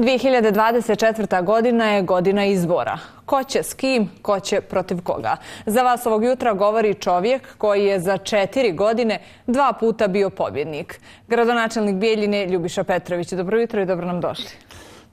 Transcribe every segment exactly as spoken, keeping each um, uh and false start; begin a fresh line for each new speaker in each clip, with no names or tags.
dvije hiljade dvadeset četvrta. godina je godina izbora. Ko će s kim, ko će protiv koga? Za vas ovog jutra govori čovjek koji je za četiri godine dva puta bio pobjednik. Gradonačelnik Bijeljine Ljubiša Petrović. Dobro jutro i dobro nam došli.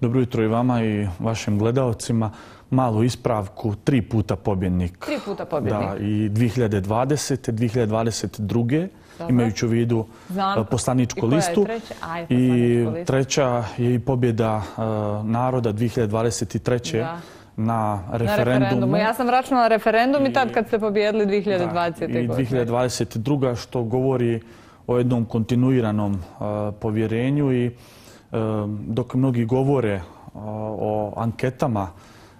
Dobro jutro i vama i vašim gledaocima. Malu ispravku, tri puta pobjednik.
Tri puta pobjednik.
Da, i dvije hiljade dvadesete. dvije hiljade dvadeset druge. Dobro. Imajući u vidu Znam. poslaničku listu.
I koja je treća? Aj,
I treća je i pobjeda uh, naroda dvije hiljade dvadeset treće. Da. Na referendumu.
Na referendumu. Ja sam računala referendum i, i tad kad ste pobjedili dvije hiljade dvadesete.
Da, i dvije hiljade dvadeset druga. što govori o jednom kontinuiranom uh, povjerenju i uh, dok mnogi govore uh, o anketama,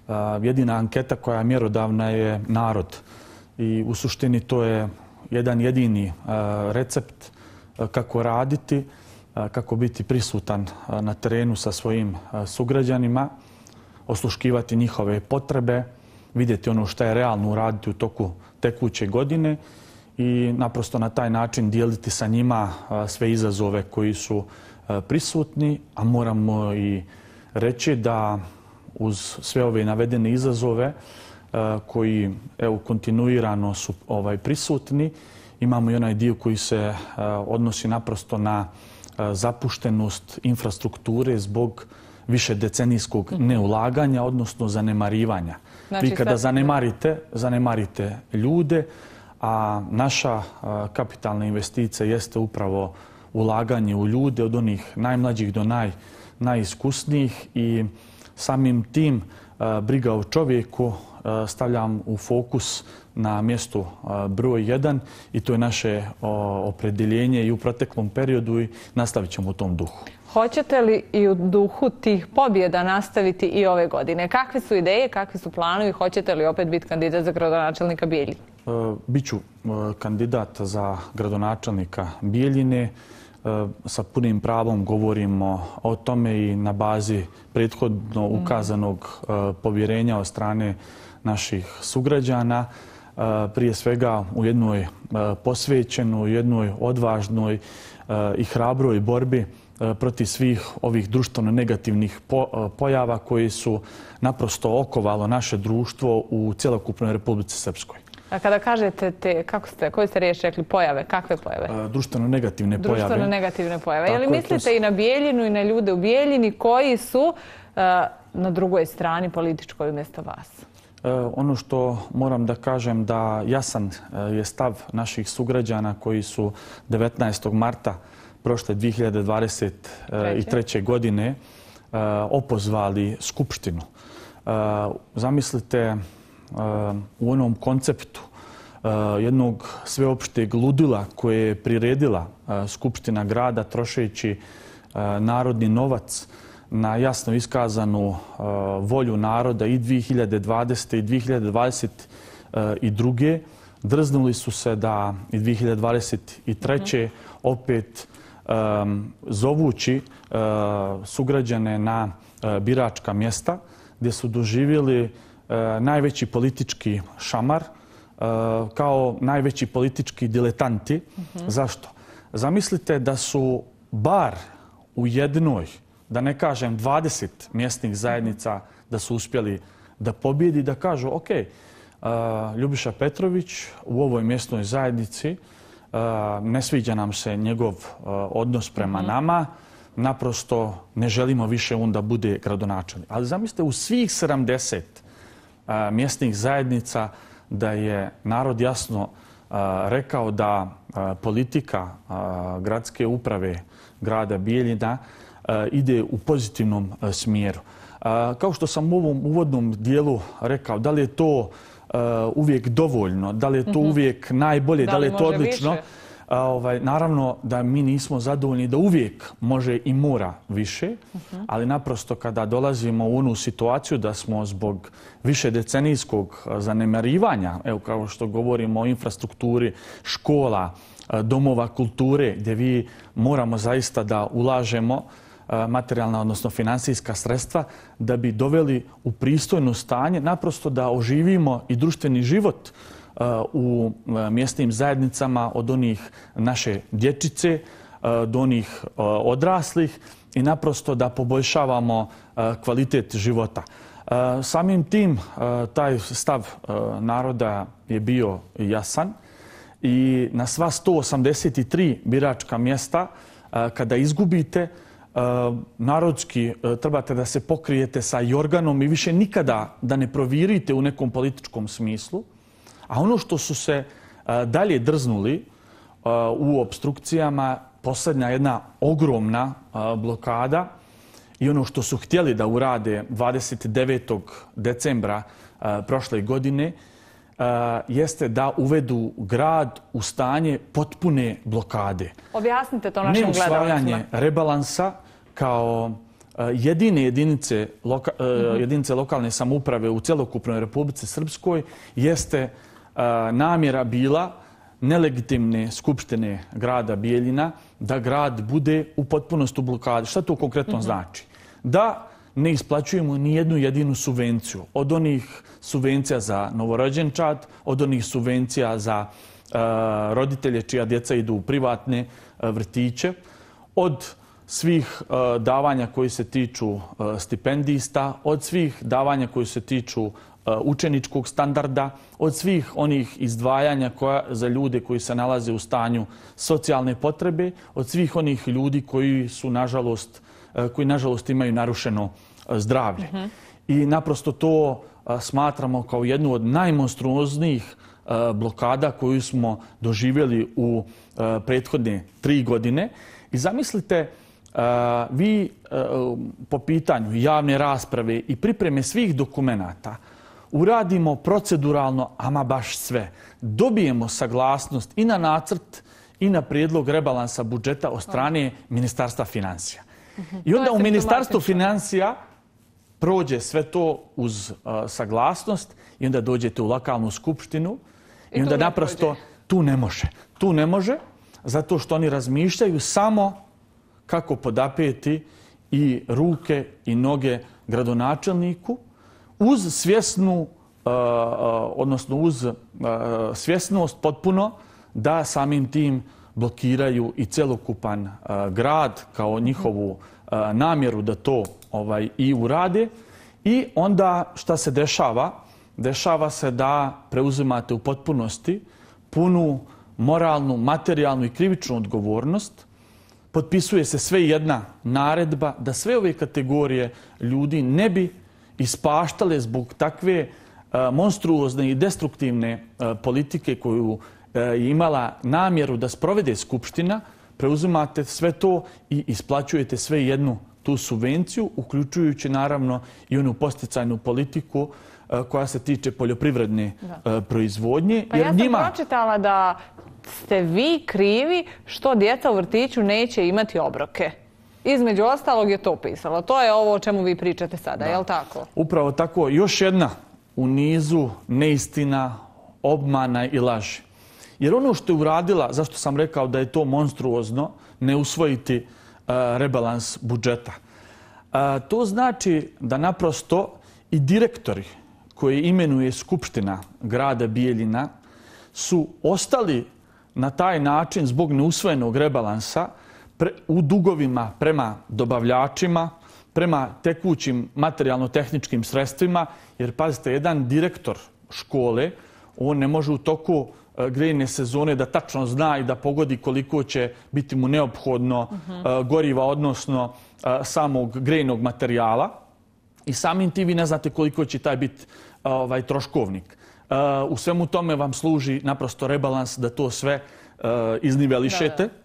uh, jedina anketa koja je mjerodavna je narod. I u suštini to je jedan jedini uh, recept uh, kako raditi, uh, kako biti prisutan uh, na terenu sa svojim uh, sugrađanima, osluškivati njihove potrebe, vidjeti ono što je realno uraditi u toku tekuće godine i naprosto na taj način dijeliti sa njima uh, sve izazove koji su uh, prisutni, a moramo i reći da uz sve ove navedene izazove koji evo, kontinuirano su ovaj, prisutni. Imamo i onaj dio koji se uh, odnosi naprosto na uh, zapuštenost infrastrukture zbog više decenijskog neulaganja, odnosno zanemarivanja. Znači, Vi kada sad... zanemarite, zanemarite ljude, a naša uh, kapitalna investicija jeste upravo ulaganje u ljude od onih najmlađih do naj, najiskusnijih i samim tim uh, briga o čovjeku stavljam u fokus na mjestu broj jedan i to je naše opredjeljenje i u proteklom periodu i nastavit ćemo u tom duhu.
Hoćete li i u duhu tih pobjeda nastaviti i ove godine? Kakve su ideje, kakvi su planovi? Hoćete li opet biti kandidat za gradonačelnika Bijeljine?
Biću kandidat za gradonačelnika Bijeljine. Sa punim pravom govorimo o tome i na bazi prethodno ukazanog povjerenja od strane naših sugrađana, prije svega u jednoj posvećenoj, jednoj odvažnoj i hrabroj borbi protiv svih ovih društveno negativnih pojava koji su naprosto okovalo naše društvo u cjelokupnoj Republici Srpskoj.
A kada kažete te, kako ste, koje ste riječ rekli, pojave, kakve pojave?
Društveno negativne pojave.
Društveno negativne pojave. Je li mislite i na Bijeljinu i na ljude u Bijeljini koji su na drugoj strani političkoj umjesto vas?
Ono što moram da kažem da jasan je stav naših sugrađana koji su devetnaestog marta prošle dvije hiljade dvadeset treće. godine opozvali Skupštinu. Zamislite u onom konceptu jednog sveopšteg ludila koje je priredila Skupština grada trošeći narodni novac na jasno iskazanu uh, volju naroda i dvije hiljade dvadesete. i dvije hiljade dvadeset druge. Drznuli su se da i dvije hiljade dvadeset treće. opet um, zovući uh, sugrađane na uh, biračka mjesta gdje su doživjeli uh, najveći politički šamar uh, kao najveći politički diletanti. Uh-huh. Zašto? Zamislite da su bar u jednoj, da ne kažem dvadeset mjesnih zajednica da su uspjeli da pobjedi, da kažu ok, uh, Ljubiša Petrović u ovoj mjesnoj zajednici uh, ne sviđa nam se njegov uh, odnos prema mm-hmm. nama, naprosto ne želimo više on da bude gradonačelnik. Ali zamislite u svih sedamdeset uh, mjesnih zajednica da je narod jasno uh, rekao da uh, politika uh, gradske uprave grada Bijeljina ide u pozitivnom smjeru. Kao što sam u ovom uvodnom dijelu rekao, da li je to uvijek dovoljno, da li je to uvijek najbolje, da li je to odlično, ovaj, naravno da mi nismo zadovoljni da uvijek može i mora više, ali naprosto kada dolazimo u onu situaciju da smo zbog više decenijskog zanemarivanja, evo kao što govorimo o infrastrukturi, škola, domova kulture, gdje vi moramo zaista da ulažemo materijalna, odnosno finansijska sredstva da bi doveli u pristojno stanje, naprosto da oživimo i društveni život u mjesnim zajednicama od onih naše dječice do onih odraslih i naprosto da poboljšavamo kvalitet života. Samim tim taj stav naroda je bio jasan i na sva sto osamdeset tri biračka mjesta kada izgubite, narodski trebate da se pokrijete sa jorganom i više nikada da ne provirite u nekom političkom smislu. A ono što su se dalje drznuli u obstrukcijama, posljednja jedna ogromna blokada i ono što su htjeli da urade dvadeset devetog decembra prošle godine jeste da uvedu grad u stanje potpune blokade.
Objasnite to našim gledalcima.
Neusvajanje rebalansa kao jedine jedinice, loka, mm-hmm. jedinice lokalne samouprave u celokupnoj Republici Srpskoj jeste namjera bila nelegitimne skupštine grada Bijeljina da grad bude u potpunosti u blokadi. Šta to konkretno mm-hmm. znači? Da ne isplaćujemo ni jednu jedinu subvenciju. Od onih subvencija za novorođenčad, od onih subvencija za uh, roditelje čija djeca idu u privatne uh, vrtiće, od svih uh, davanja koji se tiču uh, stipendista, od svih davanja koji se tiču uh, učeničkog standarda, od svih onih izdvajanja koja, za ljude koji se nalaze u stanju socijalne potrebe, od svih onih ljudi koji su, nažalost, uh, koji nažalost imaju narušeno uh, zdravlje. Mm-hmm. I naprosto to uh, smatramo kao jednu od najmonstruoznijih uh, blokada koju smo doživjeli u uh, prethodne tri godine. I zamislite, Uh, vi uh, po pitanju javne rasprave i pripreme svih dokumenata uradimo proceduralno, ama baš sve. Dobijemo saglasnost i na nacrt i na prijedlog rebalansa budžeta od strane Ministarstva financija. Uh-huh. I onda u Ministarstvu financija prođe sve to uz uh, saglasnost i onda dođete u lokalnu skupštinu i, I onda naprosto prođe. tu ne može. Tu ne može zato što oni razmišljaju samo kako podapeti i ruke i noge gradonačelniku uz svjesnu, odnosno uz svjesnost potpuno da samim tim blokiraju i celokupan grad kao njihovu namjeru da to ovaj i urade. I onda šta se dešava? Dešava se da preuzimate u potpunosti punu moralnu, materijalnu i krivičnu odgovornost. Potpisuje se sve jedna naredba da sve ove kategorije ljudi ne bi ispaštale zbog takve uh, monstruozne i destruktivne uh, politike koju uh, je imala namjeru da sprovede Skupština. Preuzimate sve to i isplaćujete sve jednu tu subvenciju, uključujući naravno i onu posticajnu politiku uh, koja se tiče poljoprivredne uh, proizvodnje.
Pa jer ja sam njima... pročitala da ste vi krivi što djeca u vrtiću neće imati obroke. Između ostalog je to pisalo. To je ovo o čemu vi pričate sada, da. Je li tako?
Upravo tako. Još jedna u nizu neistina, obmana i laži. Jer ono što je uradila, zašto sam rekao da je to monstruozno, ne usvojiti uh, rebalans budžeta. Uh, to znači da naprosto i direktori koje imenuje Skupština grada Bijeljina su ostali na taj način zbog neusvojenog rebalansa pre, u dugovima prema dobavljačima, prema tekućim materijalno-tehničkim sredstvima, jer pazite, jedan direktor škole, on ne može u toku uh, grejne sezone da tačno zna i da pogodi koliko će biti mu neophodno uh-huh. uh, goriva, odnosno uh, samog grejnog materijala. I samim tim vi ne znate koliko će taj biti uh, ovaj, troškovnik. Uh, u svemu tome vam služi naprosto rebalans da to sve uh, iznivelišete. Da, da.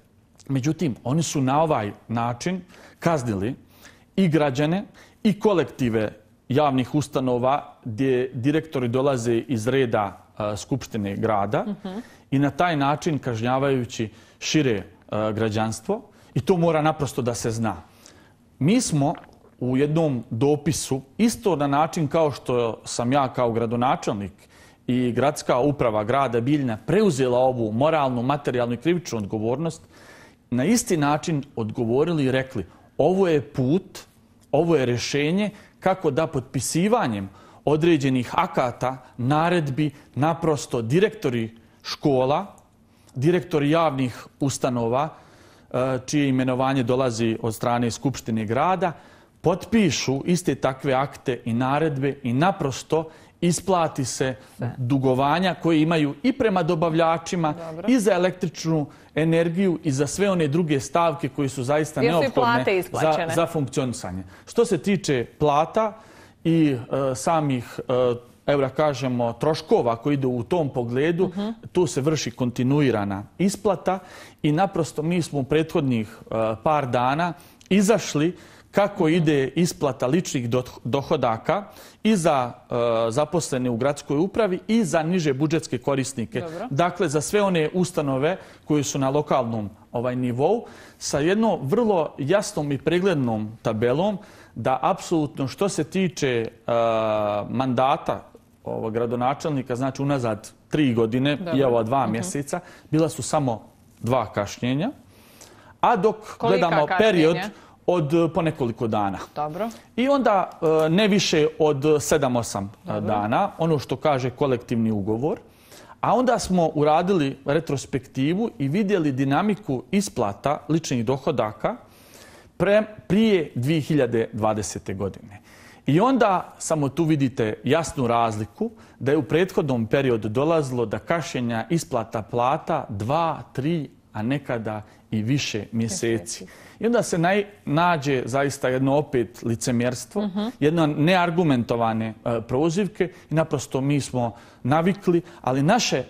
Međutim, oni su na ovaj način kaznili i građane i kolektive javnih ustanova gdje direktori dolaze iz reda uh, Skupštine grada uh-huh. i na taj način kažnjavajući šire uh, građanstvo. I to mora naprosto da se zna. Mi smo u jednom dopisu, isto na način kao što sam ja kao gradonačelnik i gradska uprava grada Bijeljina preuzela ovu moralnu, materijalnu i krivičnu odgovornost, na isti način odgovorili i rekli ovo je put, ovo je rješenje kako da potpisivanjem određenih akata, naredbi, naprosto direktori škola, direktori javnih ustanova čije imenovanje dolazi od strane Skupštine grada, potpišu iste takve akte i naredbe i naprosto isplati se dugovanja koje imaju i prema dobavljačima i za električnu energiju i za sve one druge stavke koje su zaista neophodne za, za funkcionisanje. Što se tiče plata i e, samih e, evo da kažemo, troškova koji idu u tom pogledu, uh-huh. tu se vrši kontinuirana isplata i naprosto mi smo u prethodnih uh, par dana izašli kako uh-huh. ide isplata ličnih dohodaka i za uh, zaposlene u gradskoj upravi i za niže budžetske korisnike. Dobro. Dakle, za sve one ustanove koje su na lokalnom ovaj, nivou sa jednom vrlo jasnom i preglednom tabelom da apsolutno što se tiče uh, mandata ovog gradonačelnika, znači unazad tri godine Dobre. i ova dva uh-huh. mjeseca, bila su samo dva kašnjenja, a dok Kolika gledamo kašnjenja? Period od po nekoliko dana.
Dobro.
I onda ne više od sedam osam dana, ono što kaže kolektivni ugovor, a onda smo uradili retrospektivu i vidjeli dinamiku isplata ličnih dohodaka pre, prije dvije hiljade dvadesete. godine. I onda samo tu vidite jasnu razliku da je u prethodnom periodu dolazilo do kašnjenja isplata plata dva, tri, a nekada i više mjeseci. I onda se naj, nađe zaista jedno opet licemjerstvo, uh-huh. jedno neargumentovane uh, prozivke i naprosto mi smo navikli, ali naše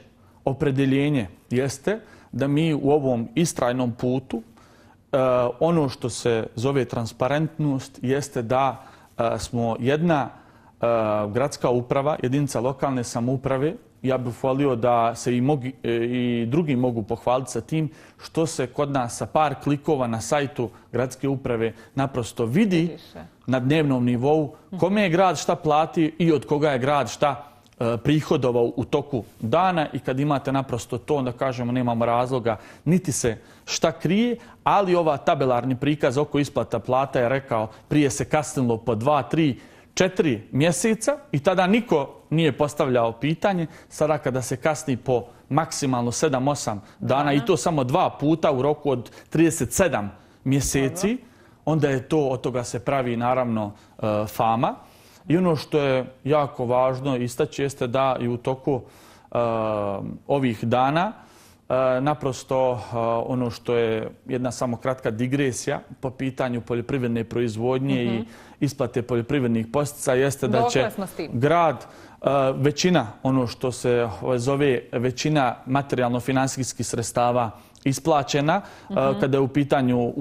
opredeljenje jeste da mi u ovom istrajnom putu uh, ono što se zove transparentnost jeste da smo jedna uh, gradska uprava, jedinica lokalne samouprave. Ja bih volio da se i, mogi, i drugi mogu pohvaliti sa tim što se kod nas sa par klikova na sajtu gradske uprave naprosto vidi na dnevnom nivou kome je grad šta plati i od koga je grad šta uh, prihodovao u toku dana i kad imate naprosto to, onda kažemo nemamo razloga niti se šta krije, ali ova tabelarni prikaz oko isplata plata je rekao prije se kasnilo po dva, tri, četiri mjeseca i tada niko nije postavljao pitanje. Sada kada se kasni po maksimalno sedam osam dana i to samo dva puta u roku od trideset sedam mjeseci, onda je to, od toga se pravi naravno fama. I ono što je jako važno istaći jeste da i u toku uh, ovih dana uh, naprosto uh, ono što je jedna samo kratka digresija po pitanju poljoprivredne proizvodnje mm-hmm. i isplate poljoprivrednih posticaja jeste da će grad uh, većina, ono što se zove većina materijalno-finansijskih sredstava isplaćena uh-huh. kada je u pitanju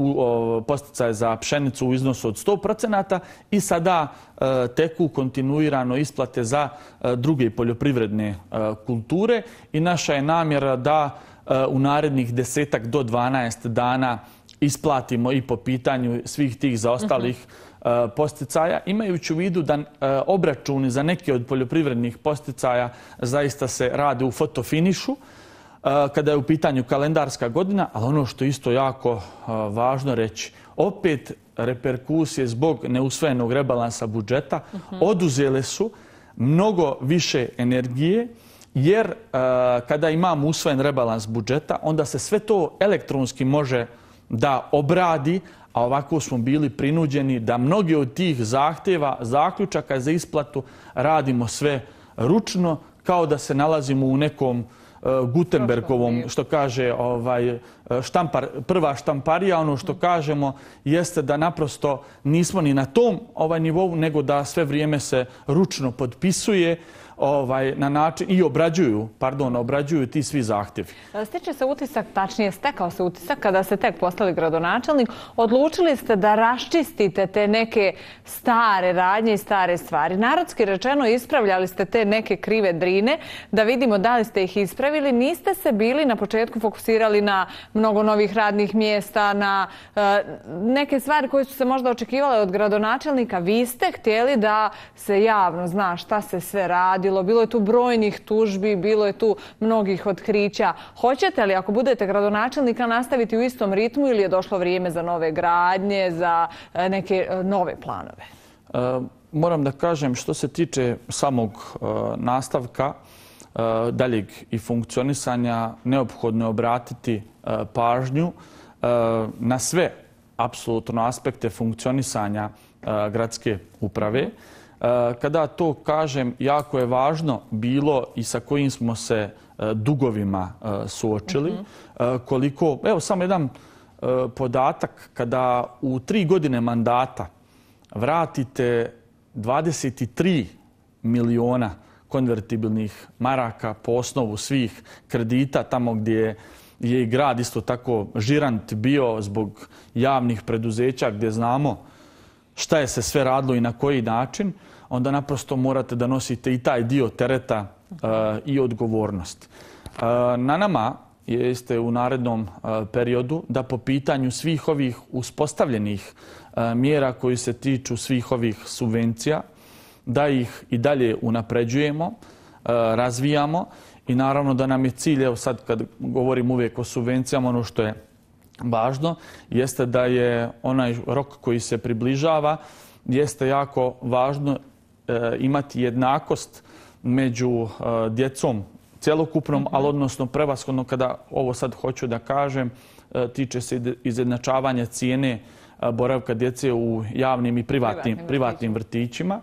posticaje za pšenicu u iznosu od sto procenata i sada uh, teku kontinuirano isplate za uh, druge poljoprivredne uh, kulture i naša je namjera da uh, u narednih desetak do dvanaest dana isplatimo i po pitanju svih tih zaostalih uh-huh. uh, posticaja, imajući u vidu da uh, obračuni za neke od poljoprivrednih posticaja zaista se rade u fotofinišu kada je u pitanju kalendarska godina, ali ono što isto jako važno reći, opet reperkusije zbog neusvojenog rebalansa budžeta uh-huh. oduzele su mnogo više energije, jer kada imamo usvojen rebalans budžeta, onda se sve to elektronski može da obradi, a ovako smo bili prinuđeni da mnogi od tih zahtjeva, zaključaka za isplatu radimo sve ručno, kao da se nalazimo u nekom Gutenbergovom, što kaže ovaj, štampar, prva štamparija, ono što kažemo jeste da naprosto nismo ni na tom ovaj nivou, nego da sve vrijeme se ručno potpisuje ovaj, na način i obrađuju, pardon, obrađuju ti svi zahtjevi.
Stiče se utisak, tačnije stekao se utisak kada ste tek postali gradonačelnik, odlučili ste da raščistite te neke stare radnje i stare stvari. Narodski rečeno ispravljali ste te neke krive drine, da vidimo da li ste ih ispravili. Niste se bili na početku fokusirali na mnogo novih radnih mjesta, na uh, neke stvari koje su se možda očekivale od gradonačelnika. Vi ste htjeli da se javno zna šta se sve radi. Bilo je tu brojnih tužbi, bilo je tu mnogih otkrića. Hoćete li, ako budete gradonačelnika, nastaviti u istom ritmu ili je došlo vrijeme za nove gradnje, za neke nove planove?
E, moram da kažem, što se tiče samog e, nastavka e, daljeg i funkcionisanja, neophodno je obratiti e, pažnju na sve apsolutno aspekte funkcionisanja gradske uprave. Kada to kažem, jako je važno bilo i sa kojim smo se dugovima suočili. Koliko, evo samo jedan podatak, kada u tri godine mandata vratite dvadeset tri miliona konvertibilnih maraka po osnovu svih kredita, tamo gdje je i grad isto tako žirant bio zbog javnih preduzeća gdje znamo šta je se sve radilo i na koji način, onda naprosto morate da nosite i taj dio tereta uh, i odgovornost. Uh, na nama jeste u narednom uh, periodu da po pitanju svih ovih uspostavljenih uh, mjera koji se tiču svih ovih subvencija, da ih i dalje unapređujemo, uh, razvijamo i naravno da nam je cilj, evo sad kad govorim uvijek o subvencijama, ono što je važno jeste da je onaj rok koji se približava, jeste jako važno e, imati jednakost među e, djecom cjelokupnom, mm-hmm. ali odnosno prevashodno kada ovo sad hoću da kažem, e, tiče se izjednačavanja cijene e, boravka djece u javnim i privatnim, privatnim, privatnim vrtićima.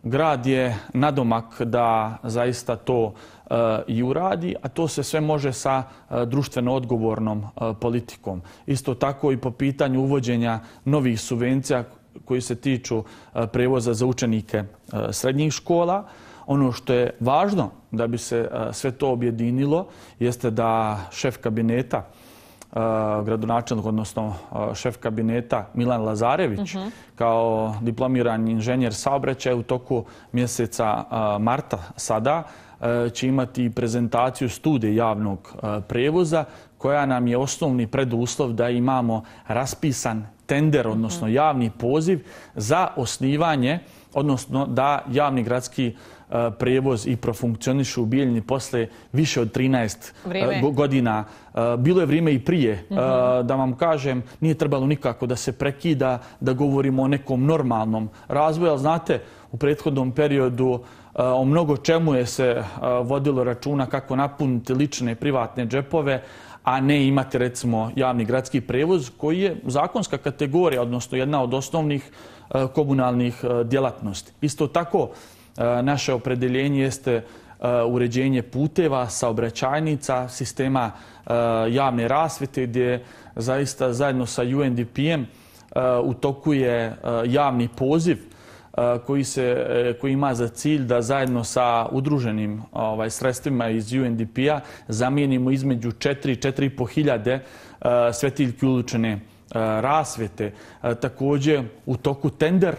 Grad je nadomak da zaista to uh, i uradi, a to se sve može sa uh, društveno odgovornom uh, politikom. Isto tako i po pitanju uvođenja novih subvencija koji se tiču uh, prevoza za učenike uh, srednjih škola. Ono što je važno da bi se uh, sve to objedinilo jeste da šef kabineta gradonačelnik, odnosno šef kabineta Milan Lazarević, uh-huh. kao diplomirani inženjer saobraćaja u toku mjeseca marta sada će imati prezentaciju studije javnog prevoza koja nam je osnovni preduslov da imamo raspisan tender, odnosno javni poziv za osnivanje, odnosno da javni gradski prevoz i profunkcioniše u Bijeljini posle više od trinaest vrijeme. godina. Bilo je vrijeme i prije. Mm-hmm. Da vam kažem, nije trebalo nikako da se prekida, da govorimo o nekom normalnom razvoju, ali znate, u prethodnom periodu o mnogo čemu je se vodilo računa kako napuniti lične privatne džepove, a ne imati recimo javni gradski prevoz koji je zakonska kategorija, odnosno jedna od osnovnih komunalnih djelatnosti. Isto tako, naše opredeljenje jeste uređenje puteva, saobraćajnica, sistema javne rasvjete gdje zaista zajedno sa U N D P-em u toku je javni poziv koji, se, koji ima za cilj da zajedno sa udruženim ovaj, sredstvima iz U N D P-a zamijenimo između četiri i četiri i po hiljade svetiljki ulične rasvjete. Također u toku tender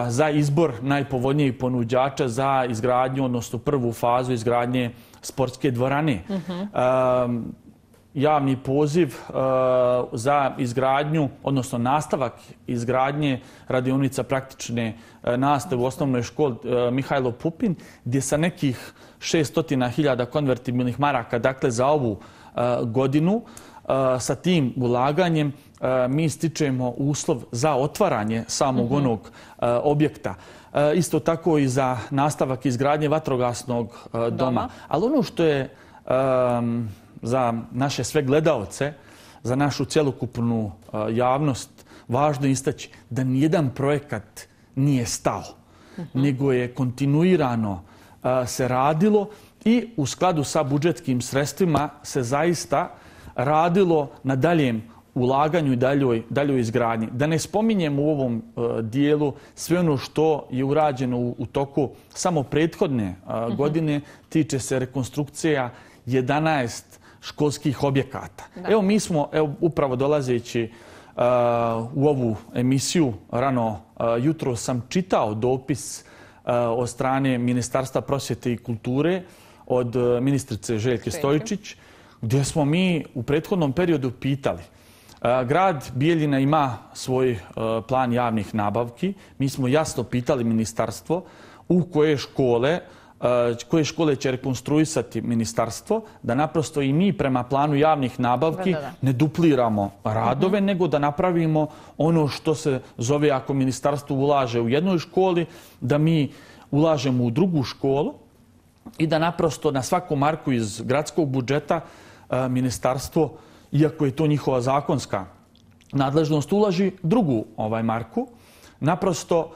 za izbor najpovoljnijih ponuđača za izgradnju, odnosno prvu fazu izgradnje sportske dvorane. Uh-huh. Javni poziv za izgradnju, odnosno nastavak izgradnje radionica praktične nastave u osnovnoj školi Mihajlo Pupin, gdje sa nekih šesto hiljada konvertibilnih maraka, dakle za ovu godinu, sa tim ulaganjem mi stičemo uslov za otvaranje samog mm-hmm. onog uh, objekta. Uh, isto tako i za nastavak izgradnje vatrogasnog uh, doma. doma. Ali ono što je um, za naše sve gledaoce, za našu cjelokupnu uh, javnost važno istaći da nijedan projekat nije stao, mm-hmm. nego je kontinuirano uh, se radilo i u skladu sa budžetskim sredstvima se zaista radilo na daljem ulaganju i daljoj, daljoj izgradnji. Da ne spominjem u ovom uh, dijelu sve ono što je urađeno u, u toku samo prethodne uh, uh-huh. godine, tiče se rekonstrukcija jedanaest školskih objekata. Da. Evo mi smo, evo, upravo dolazeći uh, u ovu emisiju, rano uh, jutro sam čitao dopis uh, od strane Ministarstva prosvjete i kulture od uh, ministrice Željke Stojičić, gdje smo mi u prethodnom periodu pitali. Grad Bijeljina ima svoj plan javnih nabavki. Mi smo jasno pitali ministarstvo u koje škole, koje škole će rekonstruisati ministarstvo, da naprosto i mi prema planu javnih nabavki da, da, da. ne dupliramo radove, uh-huh. nego da napravimo ono što se zove ako ministarstvo ulaže u jednoj školi, da mi ulažemo u drugu školu i da naprosto na svaku marku iz gradskog budžeta ministarstvo iako je to njihova zakonska nadležnost, ulaži drugu ovaj marku. Naprosto,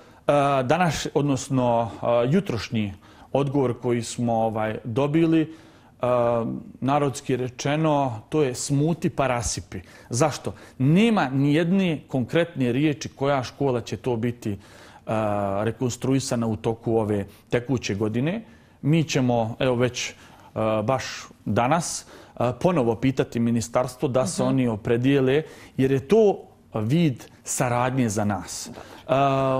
danas, odnosno jutrošnji odgovor koji smo ovaj, dobili, narodski rečeno, to je smuti pa rasipi. Zašto? Nema ni jedne konkretne riječi koja škola će to biti rekonstruisana u toku ove tekuće godine. Mi ćemo, evo već baš danas, ponovo pitati ministarstvo da se oni opredijele, jer je to vid saradnje za nas. Uh,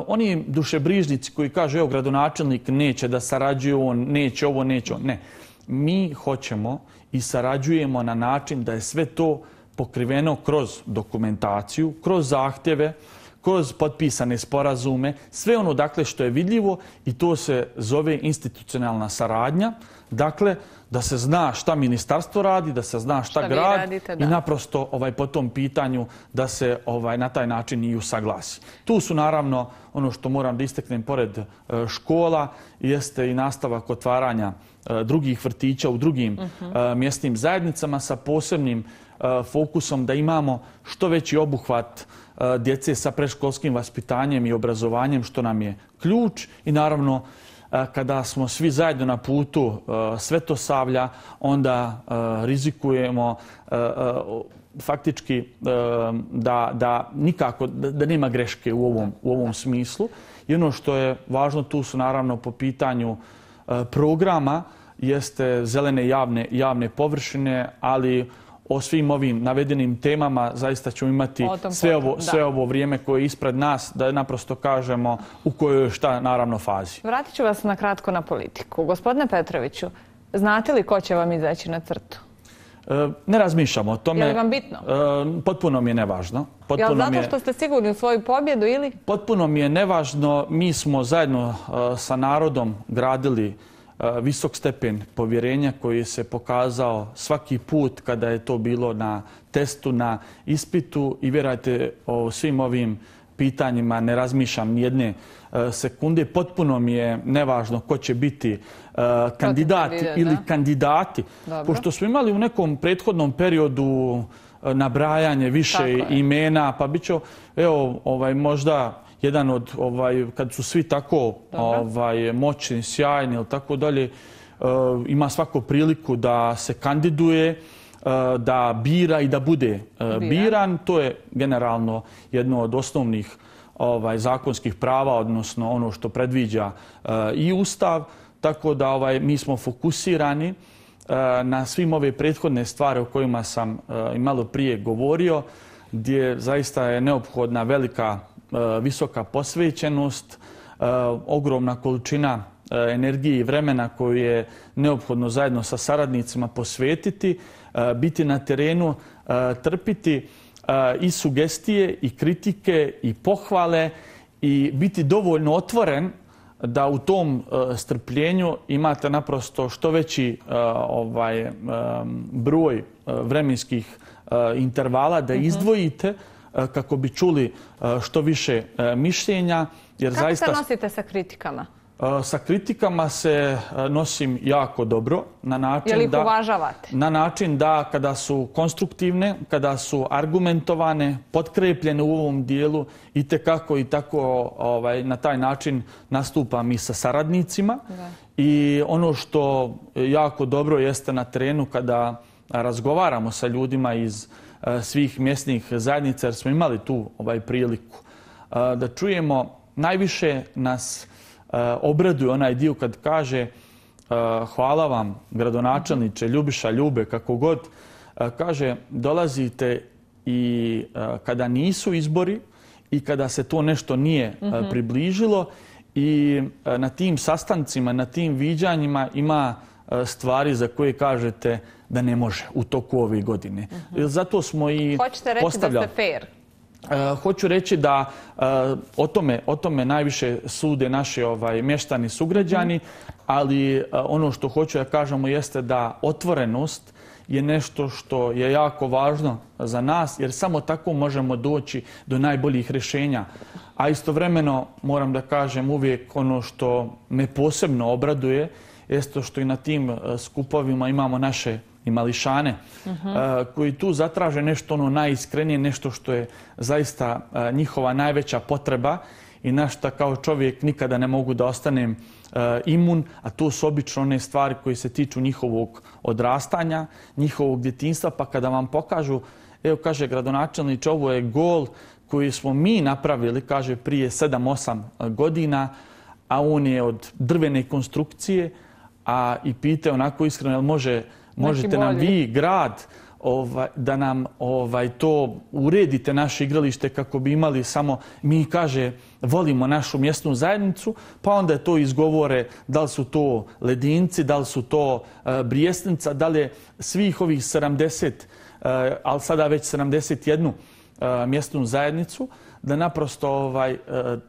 oni dušebrižnici koji kažu, evo, gradonačelnik neće da sarađuje, on neće ovo, neće on. Ne. Mi hoćemo i sarađujemo na način da je sve to pokriveno kroz dokumentaciju, kroz zahtjeve, kroz potpisane sporazume, sve ono dakle što je vidljivo i to se zove institucionalna saradnja. Dakle, da se zna šta ministarstvo radi, da se zna šta, šta grad radite, i naprosto ovaj, po tom pitanju da se ovaj, na taj način i usaglasi. Tu su naravno, ono što moram da istaknem pored škola, jeste i nastavak otvaranja drugih vrtića u drugim uh-huh. mjesnim zajednicama sa posebnim fokusom da imamo što veći obuhvat djece sa predškolskim vaspitanjem i obrazovanjem, što nam je ključ. I naravno, kada smo svi zajedno na putu Svetosavlja, onda rizikujemo faktički da, da nikako, da nema greške u ovom, u ovom smislu. I ono što je važno tu su naravno po pitanju programa jeste zelene javne, javne površine, ali o svim ovim navedenim temama zaista ćemo imati sve ovo, sve ovo vrijeme koje je ispred nas, da naprosto kažemo u kojoj je šta naravno fazi.
Vratit ću vas na kratko na politiku. Gospodine Petroviću, znate li ko će vam izaći na crtu?
E, ne razmišljamo o tome.
Je li vam bitno?
E, potpuno mi je nevažno.
Je li zato što ste sigurni u svoju pobjedu ili?
Potpuno mi je nevažno. Mi smo zajedno uh, sa narodom gradili visok stepen povjerenja koji se pokazao svaki put kada je to bilo na testu, na ispitu i vjerujte o svim ovim pitanjima ne razmišljam nijedne sekunde. Potpuno mi je nevažno ko će biti kandidat ili da? kandidati. Dobro. Pošto smo imali u nekom prethodnom periodu nabrajanje više imena, pa bit će, evo, ovaj, možda jedan od, ovaj, kad su svi tako ovaj, moćni, sjajni ili tako dalje, uh, ima svako priliku da se kandiduje, uh, da bira i da bude uh, biran. To je generalno jedno od osnovnih ovaj, zakonskih prava, odnosno ono što predviđa uh, i Ustav. Tako da ovaj, mi smo fokusirani uh, na svim ove prethodne stvari o kojima sam uh, i malo prije govorio, gdje zaista je neophodna velika visoka posvećenost, ogromna količina energije i vremena koju je neophodno zajedno sa saradnicima posvetiti, biti na terenu, trpiti i sugestije i kritike i pohvale i biti dovoljno otvoren da u tom strpljenju imate naprosto što veći ovaj, broj vremenskih intervala da izdvojite kako bi čuli što više mišljenja. Jer
kako
zaista,
se nosite sa kritikama?
Sa kritikama se nosim jako dobro. Na način
je li ih
da,
uvažavate?
Na način da kada su konstruktivne, kada su argumentovane, potkrepljene u ovom dijelu i tekako i tako ovaj, na taj način nastupam i sa saradnicima. Da. I ono što jako dobro jeste na terenu kada razgovaramo sa ljudima iz svih mjesnih zajednica, jer smo imali tu ovaj priliku da čujemo. Najviše nas obraduje onaj dio kad kaže hvala vam gradonačelniče, Ljubiša, Ljube, kako god. Kaže dolazite i kada nisu izbori i kada se to nešto nije približilo i na tim sastancima, na tim viđanjima ima stvari za koje kažete da ne može u toku ove godine. Uh-huh. Zato smo i
hoćete reći
postavljali.
Da ste fair?
Uh, hoću reći da uh, o, tome, o tome najviše sude naši ovaj, mještani sugrađani, uh-huh. ali uh, ono što hoću da kažemo jeste da otvorenost je nešto što je jako važno za nas, jer samo tako možemo doći do najboljih rješenja. A istovremeno moram da kažem uvijek ono što me posebno obraduje jeste što i na tim skupovima imamo naše i mališane koji tu zatraže nešto ono najiskrenije, nešto što je zaista njihova najveća potreba i na što kao čovjek nikada ne mogu da ostanem imun, a to su obično one stvari koje se tiču njihovog odrastanja, njihovog djetinjstva, pa kada vam pokažu, evo kaže gradonačelniče, ovo je gol koji smo mi napravili, kaže, prije sedam osam godina, a on je od drvene konstrukcije, a i pite onako iskreno, jel može, možete nam vi, grad, ovaj, da nam ovaj, to uredite naše igralište kako bi imali samo, mi kaže, volimo našu mjesnu zajednicu, pa onda je to izgovore da li su to Ledinci, da li su to uh, Brijesnica, da li je svih ovih sedamdeset, uh, ali sada već sedamdeset jednu uh, mjesnu zajednicu, da naprosto ovaj, uh,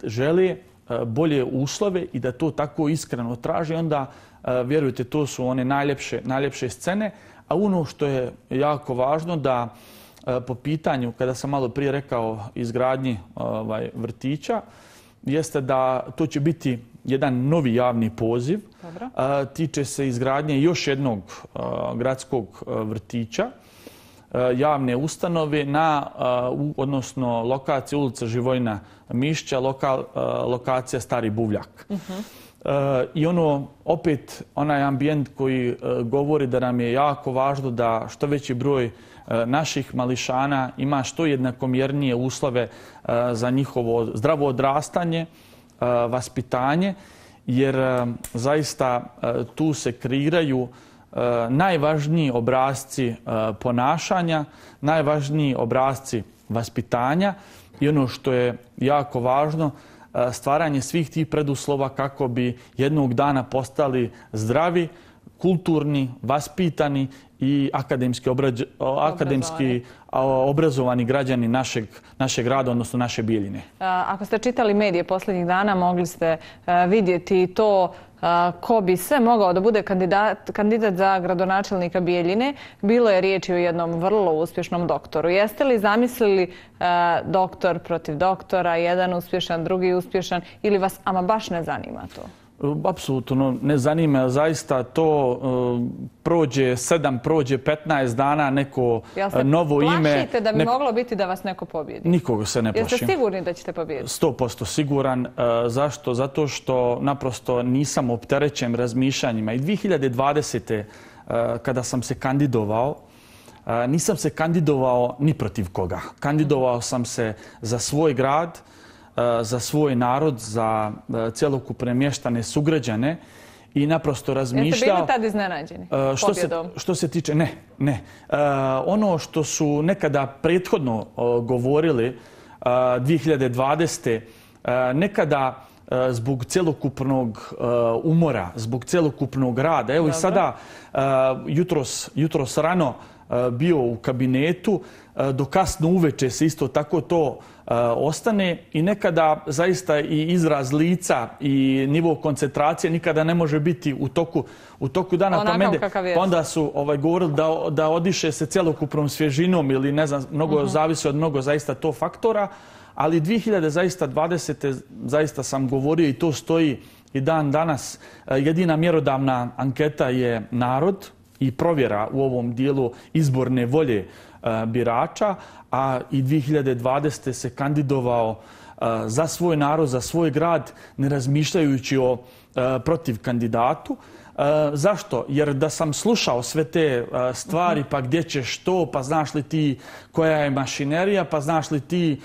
žele uh, bolje uslove i da to tako iskreno traži, onda uh, vjerujte, to su one najljepše, najljepše scene. A ono što je jako važno da uh, po pitanju, kada sam malo prije rekao izgradnji ovaj, vrtića, jeste da to će biti jedan novi javni poziv. Dobro. Uh, tiče se izgradnje još jednog uh, gradskog uh, vrtića, uh, javne ustanove na, uh, odnosno lokacija ulica Živojina Mišća, lokal, uh, lokacija Stari Buvljak. Uh-huh. Uh, I ono, opet, onaj ambijent koji uh, govori da nam je jako važno da što veći broj uh, naših mališana ima što jednakomjernije uslove uh, za njihovo zdravo odrastanje, uh, vaspitanje, jer uh, zaista uh, tu se kreiraju uh, najvažniji obrasci uh, ponašanja, najvažniji obrasci vaspitanja i ono što je jako važno, stvaranje svih tih preduslova kako bi jednog dana postali zdravi, kulturni, vaspitani i akademski, obrađ, akademski obrazovani građani našeg, našeg grada, odnosno naše Bijeljine.
Ako ste čitali medije posljednjih dana, mogli ste vidjeti to ko bi sve mogao da bude kandidat, kandidat za gradonačelnika Bijeljine. Bilo je riječi o jednom vrlo uspješnom doktoru. Jeste li zamislili uh, doktor protiv doktora, jedan uspješan, drugi uspješan, ili vas ama baš ne zanima to?
Apsolutno ne zanima. Zaista to uh, prođe sedam, prođe petnaest dana, neko novo ime.
Plašite da bi neko... moglo biti da vas neko pobjedi?
Nikoga se ne plašim.
Jeste sigurni da ćete pobijediti?
sto posto siguran. Uh, zašto? Zato što naprosto nisam opterećen razmišljanjima. I dvije hiljade dvadesete. Uh, kada sam se kandidovao, uh, nisam se kandidovao ni protiv koga. Kandidovao sam se za svoj grad, za svoj narod, za cjelokupne mještane sugrađane i naprosto razmišljao...
Jeste bili tad iznenađeni
što pobjedom? Se, što se tiče... Ne, ne. Ono što su nekada prethodno govorili dvije hiljade dvadesete. nekada zbog cjelokupnog umora, zbog cjelokupnog rada. Evo Dobro. I sada jutros, jutros rano bio u kabinetu, do kasno uveče se isto tako to ostane i nekada zaista i izraz lica i nivo koncentracije nikada ne može biti u toku, u toku dana.
Onakav
pa, mende,
pa
onda su ovaj, govorili da, da odiše se cjelokupnom svježinom ili ne znam, mnogo uh-huh. zavisi od mnogo zaista to faktora. Ali dvije hiljade dvadesete. zaista sam govorio i to stoji i dan danas. Jedina mjerodavna anketa je narod i provjera u ovom dijelu izborne volje birača, a i dvije hiljade dvadesete. se kandidovao za svoj narod, za svoj grad, ne razmišljajući o protiv kandidatu. Zašto? Jer da sam slušao sve te stvari, pa gdje će što, pa znaš li ti koja je mašinerija, pa znaš li ti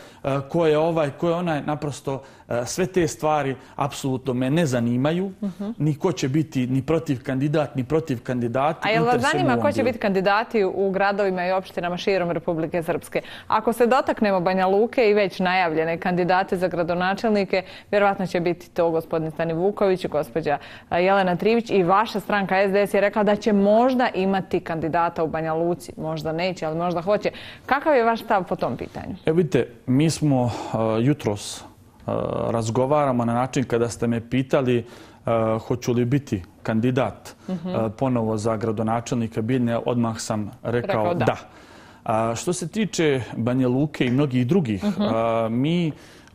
ko je ovaj, ko je onaj, naprosto sve te stvari apsolutno me ne zanimaju, uh-huh. ni ko će biti ni protiv kandidat, ni protiv kandidati.
A jel vas zanima ko će biti kandidati u gradovima i opštinama širom Republike Srpske? Ako se dotaknemo Banja Luke i već najavljene kandidate za gradonačelnike, vjerovatno će biti to gospodin Stani Vuković, gospođa Jelena Trivić i vaša stranka S D S je rekla da će možda imati kandidata u Banja Luci. Možda neće, ali možda hoće. Kakav je vaš stav po tom pitanju?
Evo vidite, mi smo uh, jutros uh, razgovaramo na način kada ste me pitali uh, hoću li biti kandidat uh-huh. uh, ponovo za gradonačelnika Bijeljine, odmah sam rekao, rekao da. da. Uh, što se tiče Banja Luke i mnogih drugih, uh-huh. uh, mi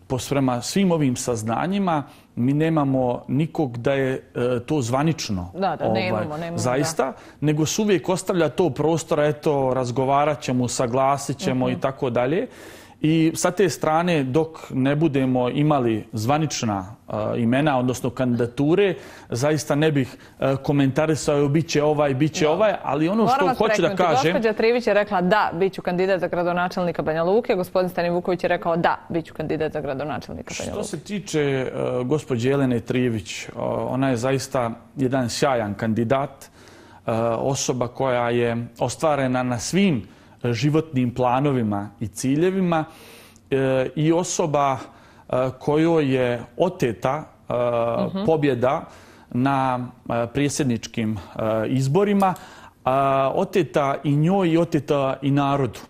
prema svim ovim saznanjima, mi nemamo nikog da je to zvanično
da, da,
ovaj,
nemamo, nemamo,
zaista,
da.
nego se uvijek ostavlja to prostora, eto, razgovarat ćemo, saglasit ćemo uh-huh. i tako dalje. I sa te strane, dok ne budemo imali zvanična uh, imena, odnosno kandidature, zaista ne bih uh, komentarisao bit će ovaj, bit će no. ovaj, ali ono
Moram
što hoću da kažem...
Gospođa Trivić je rekla da, bit ću kandidat za gradonačelnika Banja Luke, gospodin Stani Vuković je rekao da, bit ću kandidat za gradonačelnika Banja Luke.
Što se tiče uh, gospođe Jelene Trivić, uh, ona je zaista jedan sjajan kandidat, uh, osoba koja je ostvarena na svim životnim planovima i ciljevima e, i osoba e, kojoj je oteta e, uh-huh. pobjeda na e, predsjedničkim e, izborima, a, oteta i njoj i oteta i narodu.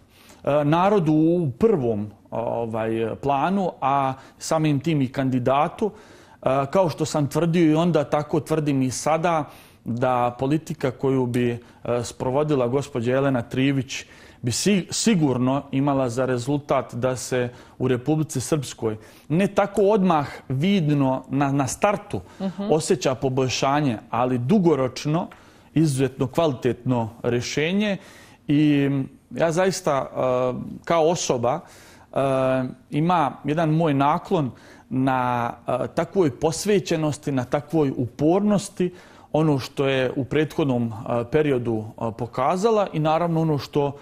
E, narodu u prvom ovaj, planu, a samim tim i kandidatu. E, kao što sam tvrdio i onda, tako tvrdim i sada, da politika koju bi e, sprovodila gospođa Jelena Trivić bi sigurno imala za rezultat da se u Republici Srpskoj ne tako odmah vidno na, na startu uh-huh. osjeća poboljšanje, ali dugoročno izuzetno kvalitetno rješenje. I ja zaista kao osoba ima jedan moj naklon na takvoj posvećenosti, na takvoj upornosti, ono što je u prethodnom periodu pokazala i naravno ono što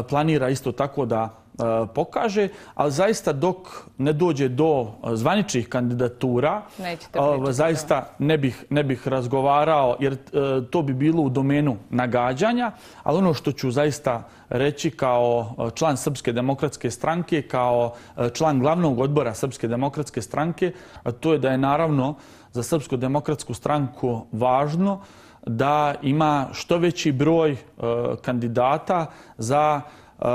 planira isto tako da pokaže, ali zaista dok ne dođe do zvaničnih kandidatura, zaista ne bih, ne bih razgovarao, jer to bi bilo u domenu nagađanja, ali ono što ću zaista reći kao član Srpske demokratske stranke, kao član glavnog odbora Srpske demokratske stranke, to je da je naravno za Srpsku demokratsku stranku važno da ima što veći broj uh, kandidata za uh,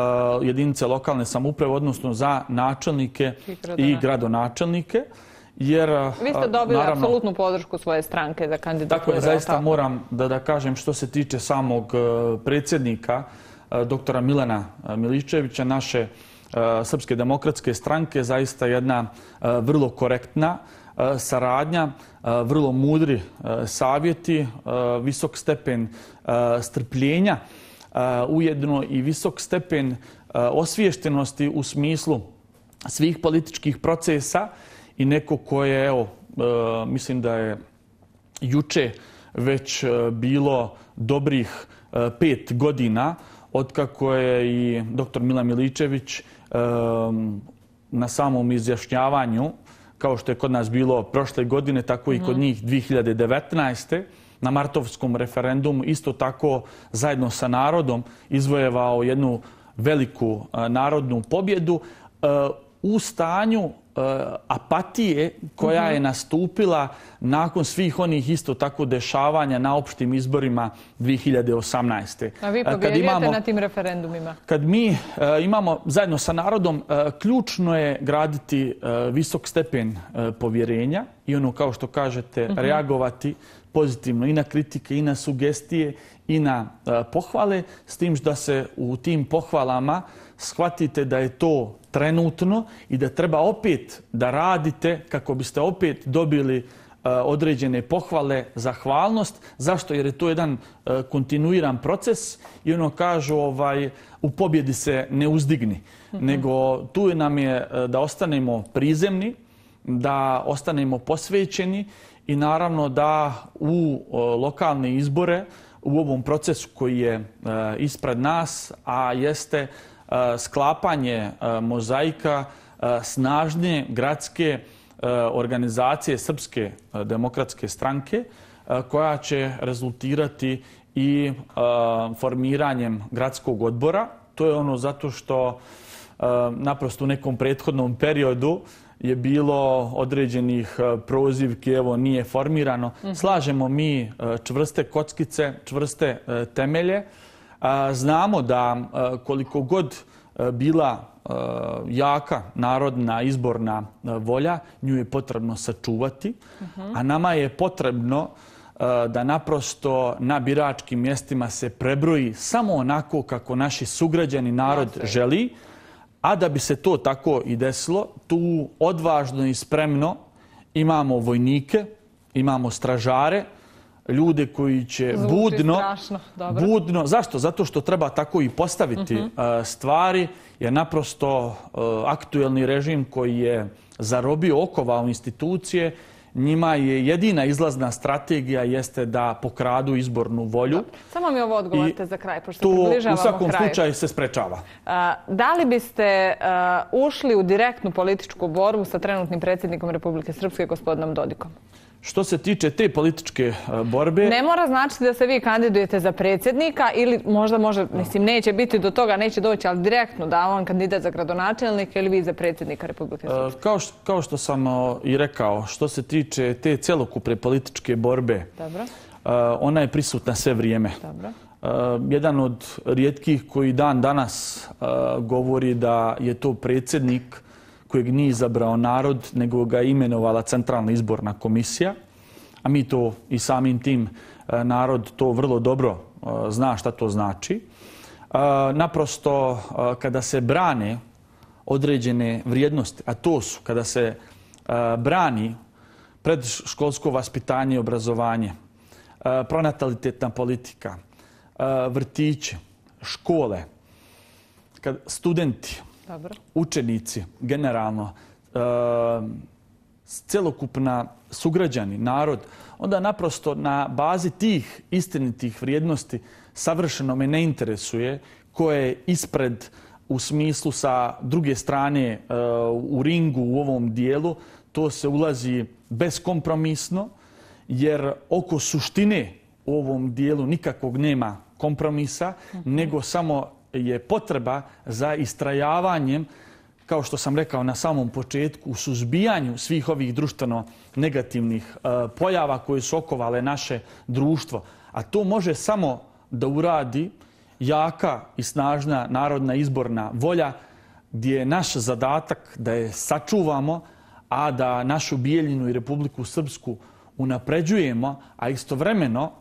jedinice lokalne samouprave, odnosno za načelnike i, i gradonačelnike. Jer,
vi ste dobili naravno, apsolutnu podršku svoje stranke za kandidaturu.
Tako je, zaista tako. moram da, da kažem što se tiče samog uh, predsjednika, uh, doktora Milana Miličevića, naše uh, Srpske demokratske stranke, zaista jedna uh, vrlo korektna saradnja, vrlo mudri savjeti, visok stepen strpljenja, ujedno i visok stepen osviještenosti u smislu svih političkih procesa i neko koje, evo, mislim da je juče već bilo dobrih pet godina otkako je i doktor Milan Miličević na samom izjašnjavanju, kao što je kod nas bilo prošle godine, tako i kod njih dvije hiljade devetnaeste. na martovskom referendumu, isto tako zajedno sa narodom izvojevao jednu veliku narodnu pobjedu u stanju apatije koja je nastupila nakon svih onih isto tako dešavanja na opštim izborima dvije hiljade osamnaeste.
A vi pobjeđujete na tim referendumima?
Kad mi imamo zajedno sa narodom, ključno je graditi visok stepen povjerenja i ono, kao što kažete, reagovati pozitivno i na kritike, i na sugestije, i na pohvale, s tim da se u tim pohvalama shvatite da je to trenutno i da treba opet da radite kako biste opet dobili određene pohvale, zahvalnost. Zašto? Jer je to jedan kontinuiran proces i ono kažu ovaj, u pobjedi se ne uzdigni. Nego tu nam je da ostanemo prizemni, da ostanemo posvećeni i naravno da u lokalne izbore, u ovom procesu koji je ispred nas, a jeste sklapanje mozaika snažne gradske organizacije Srpske demokratske stranke, koja će rezultirati i formiranjem gradskog odbora. To je ono zato što naprosto u nekom prethodnom periodu je bilo određenih prozivki, evo nije formirano. Slažemo mi čvrste kockice, čvrste temelje. Znamo da koliko god bila jaka narodna izborna volja, nju je potrebno sačuvati, a nama je potrebno da naprosto na biračkim mjestima se prebroji samo onako kako naši sugrađani narod želi, A da bi se to tako i desilo, tu odvažno i spremno imamo vojnike, imamo stražare, ljude koji će
Zvuči
budno,
strašno, dobro.
budno, zašto? Zato što treba tako i postaviti uh, stvari, jer naprosto uh, aktuelni režim koji je zarobio, okovao institucije, njima je jedina izlazna strategija jeste da pokradu izbornu volju.
Dobro. Samo mi ovo odgovorite za kraj, pošto
to
približavamo
u svakom
kraju.
slučaju se sprečava.
A, da li biste a, ušli u direktnu političku borbu sa trenutnim predsjednikom Republike Srpske, gospodinom Dodikom?
Što se tiče te političke borbe...
Ne mora značiti da se vi kandidujete za predsjednika ili možda može, mislim, neće biti do toga, neće doći, ali direktno da on kandidat za gradonačelnika ili vi za predsjednika Republike Srpske.
Kao što, kao što sam i rekao, što se tiče te celokupne političke borbe,
Dobro.
ona je prisutna sve vrijeme.
Dobro.
Jedan od rijetkih koji dan danas govori da je to predsjednik kojeg nije izabrao narod, nego ga je imenovala Centralna izborna komisija, a mi to i samim tim narod to vrlo dobro zna šta to znači. Naprosto, kada se brane određene vrijednosti, a to su kada se brani predškolsko vaspitanje i obrazovanje, pronatalitetna politika, vrtiće, škole, studenti,
Dobro.
učenici, generalno, e, celokupna sugrađani, narod, onda naprosto na bazi tih istinitih vrijednosti savršeno me ne interesuje ko je ispred u smislu sa druge strane e, u ringu u ovom dijelu. To se ulazi beskompromisno, jer oko suštine u ovom dijelu nikakvog nema kompromisa, mm-hmm. nego samo je potreba za istrajavanjem, kao što sam rekao na samom početku, u suzbijanju svih ovih društveno negativnih uh, pojava koje su okovale naše društvo. A to može samo da uradi jaka i snažna narodna izborna volja, gdje je naš zadatak da je sačuvamo, a da našu Bijeljinu i Republiku Srpsku unapređujemo, a istovremeno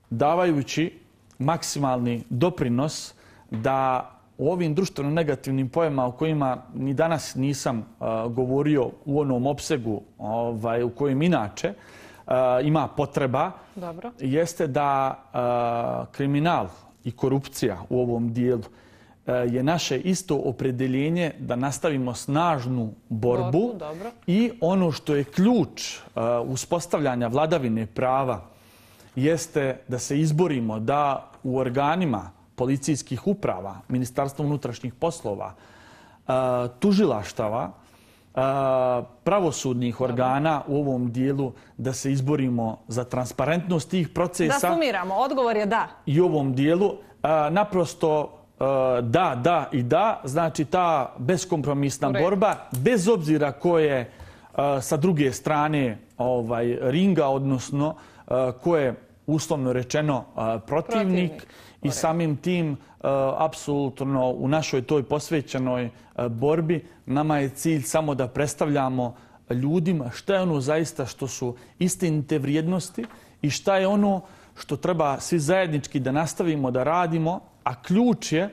davajući maksimalni doprinos da u ovim društveno negativnim pojavama o kojima ni danas nisam uh, govorio u onom opsegu ovaj, u kojem inače uh, ima potreba,
Dobro.
jeste da uh, kriminal i korupcija u ovom dijelu uh, je naše isto opredeljenje da nastavimo snažnu borbu,
borbu
i ono što je ključ uh, uspostavljanja vladavine prava jeste da se izborimo da u organima policijskih uprava, Ministarstva unutrašnjih poslova, tužilaštava, pravosudnih organa u ovom dijelu, da se izborimo za transparentnost tih procesa.
Da sumiramo, odgovor je da.
I u ovom dijelu naprosto da, da i da, znači ta beskompromisna borba, bez obzira ko je sa druge strane ovaj, ringa, odnosno ko je uslovno rečeno protivnik, protivnik. I samim tim, apsolutno u našoj toj posvećenoj borbi, nama je cilj samo da predstavljamo ljudima šta je ono zaista što su istinite vrijednosti i šta je ono što treba svi zajednički da nastavimo da radimo, a ključ je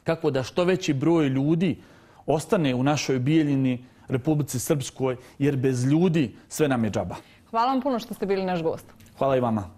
kako da što veći broj ljudi ostane u našoj Bijeljini, Republici Srpskoj, jer bez ljudi sve nam je džaba.
Hvala vam puno što ste bili naš gost.
Hvala i vama.